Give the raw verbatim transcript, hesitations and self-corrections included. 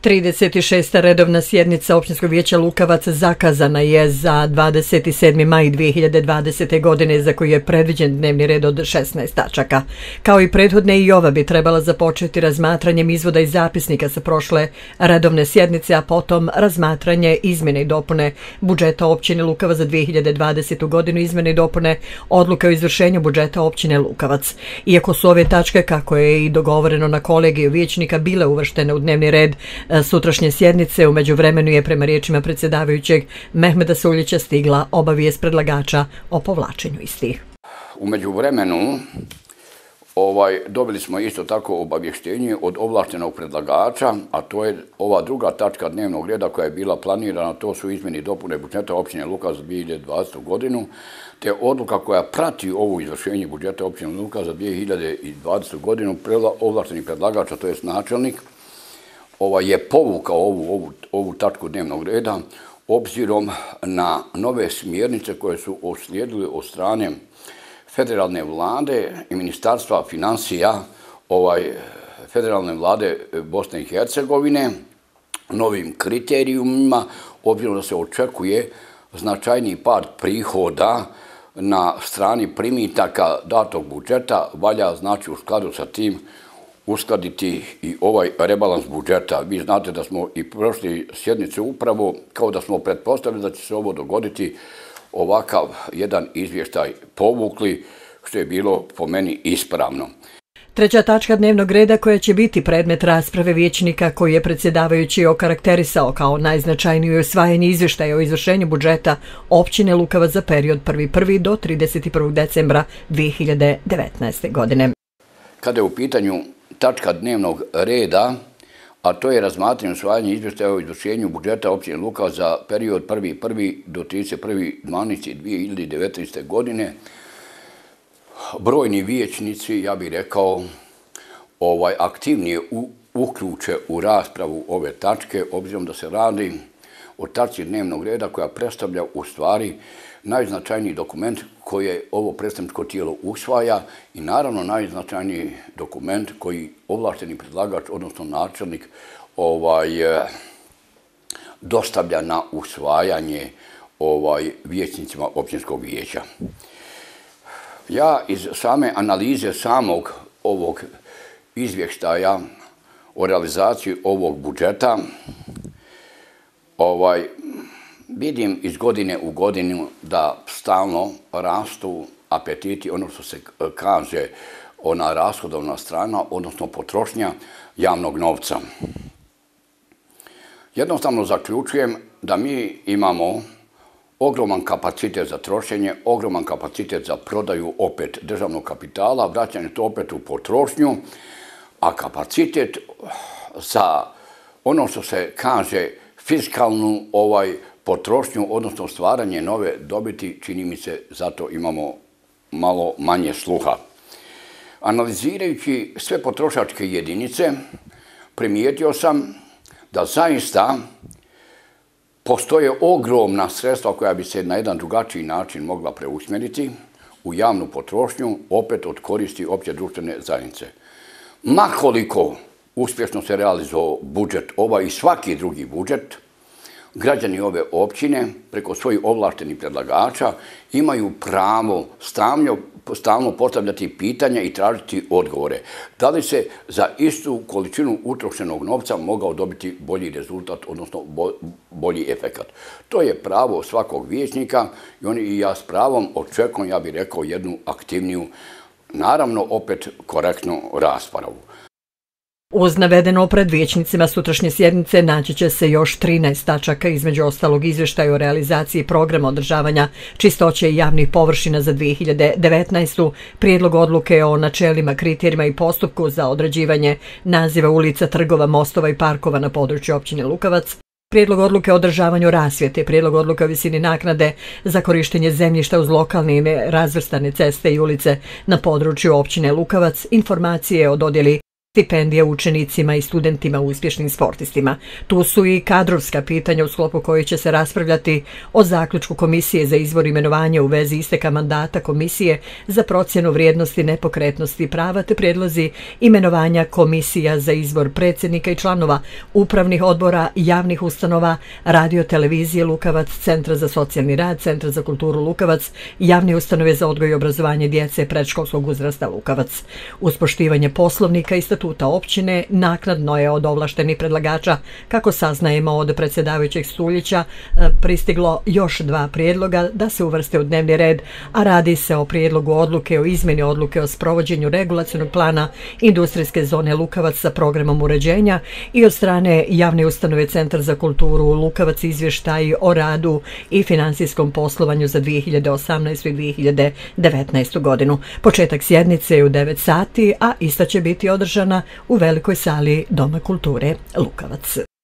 trideset šesta redovna sjednica Općinskog vijeća Lukavac zakazana je za dvadeset sedmi maj dvije hiljade dvadesete. godine, za koju je predviđen dnevni red od šesnaest tačaka. Kao i prethodne, i ova bi trebala započeti razmatranjem izvoda i zapisnika sa prošle redovne sjednice, a potom razmatranje izmjene i dopune budžeta općine Lukavac za dvije hiljade dvadesetu. godinu, izmjene i dopune odluke o izvršenju budžeta općine Lukavac. Iako su ove tačke, kako je i dogovoreno na kolegiju vijećnika, bile uvrštene u dnevni red sutrašnje sjednice, u međuvremenu je, prema riječima predsjedavajućeg Mehmeda Suljića, stigla obavijest predlagača o povlačenju istih. U međuvremenu ovaj, dobili smo isto tako obavještenje od ovlaštenog predlagača, a to je ova druga tačka dnevnog reda koja je bila planirana, to su izmjene i dopune budžeta općine Lukavac za dvije hiljade dvadesetu. godinu, te odluka koja prati ovo izvršenje budžeta općine Lukavac za dvije hiljade dvadesetu. godinu, ovlašteni predlagač, a to je načelnik, Ovaj je povukao ovu, ovu, ovu tačku dnevnog reda obzirom na nove smjernice koje su uslijedile od strane federalne vlade i ministarstva financija ovaj, federalne vlade Bosne i Hercegovine, novim kriterijumima, obzirom da se očekuje značajniji pad prihoda na strani primitaka datog budžeta, valja znači u skladu sa tim uskladiti i ovaj rebalans budžeta. Vi znate da smo i prošli sjednice upravo, kao da smo pretpostavili da će se ovo dogoditi, ovakav jedan izvještaj povukli, što je bilo po meni ispravno. Treća tačka dnevnog reda, koja će biti predmet rasprave vijećnika, koji je predsjedavajući okarakterisao kao najznačajnije usvajanje izvještaja o izvršenju budžeta općine Lukavac za period prvi prvog do trideset prvog decembra dvije hiljade devetnaeste. godine. Kada je u pitanju tačka dnevnog reda, a to je razmatranje usvajanje izvještaja o izvršenju budžeta općine Lukavac za period prvi prvog do trideset prvog decembra dvije hiljade devetnaeste. godine, brojni vijećnici, ja bih rekao, ovaj, aktivnije u, uključe u raspravu ove tačke, obzirom da se radi o tačci dnevnog reda koja predstavlja u stvari najznačajniji dokument koje ovo predstavničko tijelo usvaja i naravno najznačajniji dokument koji ovlašteni predlagač, odnosno načelnik, ovaj, dostavlja na usvajanje ovaj, vijećnicima općinskog vijeća. Ja iz same analize samog ovog izvještaja o realizaciji ovog budžeta ovaj, vidim iz godine u godinu da stalno rastu apetiti, ono što se kaže ona rashodovna strana, odnosno potrošnja javnog novca. Jednostavno zaključujem da mi imamo ogroman kapacitet za trošenje, ogroman kapacitet za prodaju opet državnog kapitala, vraćanje to opet u potrošnju, a kapacitet za ono što se kaže fiskalnu ovaj, potrošnju, odnosno stvaranje nove dobiti, čini mi se zato imamo malo manje sluha. Analizirajući sve potrošačke jedinice, primijetio sam da zaista postoje ogromna sredstva koja bi se na jedan drugačiji način mogla preusmjeriti u javnu potrošnju, opet od koristi opće društvene zajednice. Makoliko uspješno se realizovao budžet, ovaj i svaki drugi budžet, građani ove općine preko svojih ovlaštenih predlagača imaju pravo stalno, stalno postavljati pitanja i tražiti odgovore. Da li se za istu količinu utrošenog novca mogao dobiti bolji rezultat, odnosno bolji efekat. To je pravo svakog vijećnika i oni i ja s pravom očekujem, ja bih rekao, jednu aktivniju, naravno opet korektnu raspravu. Uz navedeno, pred vijećnicima sutrašnje sjednice naći će se još trinaest tačaka, između ostalog izvještaj o realizaciji programa održavanja čistoće i javnih površina za dvije hiljade devetnaestu. prijedlog odluke o načelima, kriterijima i postupku za određivanje naziva ulica, trgova, mostova i parkova na području općine Lukavac, prijedlog odluke o održavanju rasvjete, prijedlog odluke o visini naknade za korištenje zemljišta uz lokalne i nerazvrstane ceste i ulice na području općine Lukavac, informacije o dodjeli stipendija učenicima i studentima uspješnim sportistima. Tu su i kadrovska pitanja u sklopu koji će se raspravljati o zaključku Komisije za izbor imenovanja u vezi isteka mandata Komisije za procjenu vrijednosti nepokretnosti prava te prijedlozi imenovanja komisija za izbor predsjednika i članova upravnih odbora javnih ustanova, radio televizije Lukavac, Centra za socijalni rad, Centra za kulturu Lukavac, javne ustanove za odgoj i obrazovanje djece predškolskog uzrasta Lukavac. Uz poštivanje poslovnika i statuta općine, naknadno je od ovlaštenih predlagača, kako saznajemo od predsjedavajućeg Stuljića, pristiglo još dva prijedloga da se uvrste u dnevni red, a radi se o prijedlogu odluke o izmjeni odluke o sprovođenju regulacionog plana industrijske zone Lukavac sa programom uređenja i od strane javne ustanove Centar za kulturu Lukavac izvještaj o radu i financijskom poslovanju za dvije hiljade osamnaestu. i dvije hiljade devetnaestu. godinu. Početak sjednice je u devet sati, a ista će biti održana u velikoj sali Doma kulture Lukavac.